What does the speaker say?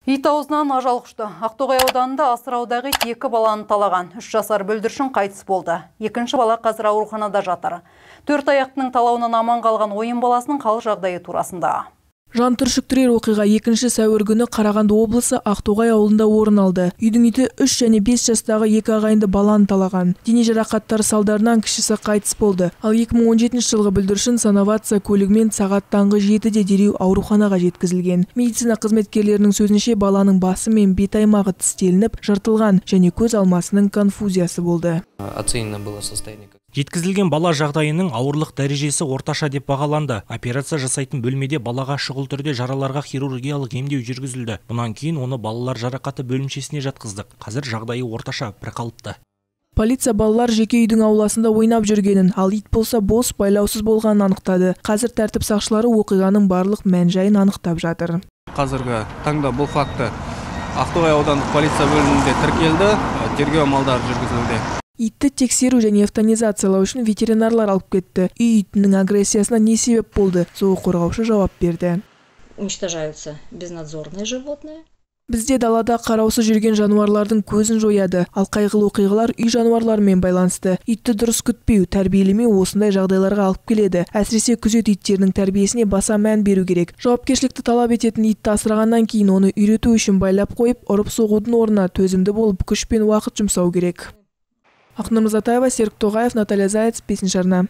Ит аузынан ажал құшты. Ақтоғай ауданында асыраудағы ит 2 баланы талаған. 3 жасар бүлдіршін қайтыс болды. 2-ші бала қазір ауруханада жатыр. 4 аяқтының талауынан аман қалған ойын баласының хал жағдайы турасында. Жан түршіктірер оқиға 2 сәуір күні Қарағанды облысы Ақтоғай ауылында орын алды. Үйдің иті 3 және 5 жастағы 2 ағайынды баланы талаған. Дене жарақаттары салдарынан кішісі қайтыс болды. Ал 2017 жылғы бүлдіршін санавация көлігімен сағат таңғы 7-де дереу ауруханаға жеткізілген. Медицина қызметкерлерінің сөзінше баланың басы мен бет аймағы тістелініп, жыртылған және көз алмасының конфузиясы болды. Оценено было состояние. Жеткізілген бала жағдайының ауырлық дәрежесі орташа деп бағаланды. Операция жасайтын бөлмеде балаға шұғыл түрде жараларға хирургиялық емдеу жүргізілді. Бұнан кейін оны балалар жарақаты бөлімшесіне жатқыздық. Қазір жағдайы орташа бірқалыпты. Полиция балалар жеке үйдің ауласында ойнап жүргенін, ал ит болса бос байлаусыз болғанын анықтады. Қазір тәртіп сақшылары оқиғаның барлық мән-жайын анықтап жатыр. Қазіргі таңда бұл факті Ақтоғай аудандық полиция бөлімінде тіркелді, тергеу амалдары жүргізілуде. Итті тексеру және эвтанизациялау үшін ветеринарлар алып кетті. Үй итінің агрессиясына не себеп болды? Зоо қорғаушы жауап берді. Уничтожаются безнадзорные животные. Бізде далада қараусыз жүрген жануарлардың көзін жояды. Ал қайғылы оқиғалар үй жануарларымен байланысты. Итті дұрыс күтпеу, тәрбиелемеу осындай жағдайларға алып келеді. Әсіресе күзет иттерінің тәрбиесіне баса мән беру керек. Жауапкершілікті талап ететін итті асырағаннан кейін оны үйрету үшін байлап қойып, ұрып соғудың орнына төзімді болып, күш пен уақыт жұмсау керек. Ақнұр Мырзатаева, Серік Тоғаев, Наталья Заяц, 5-ші арна.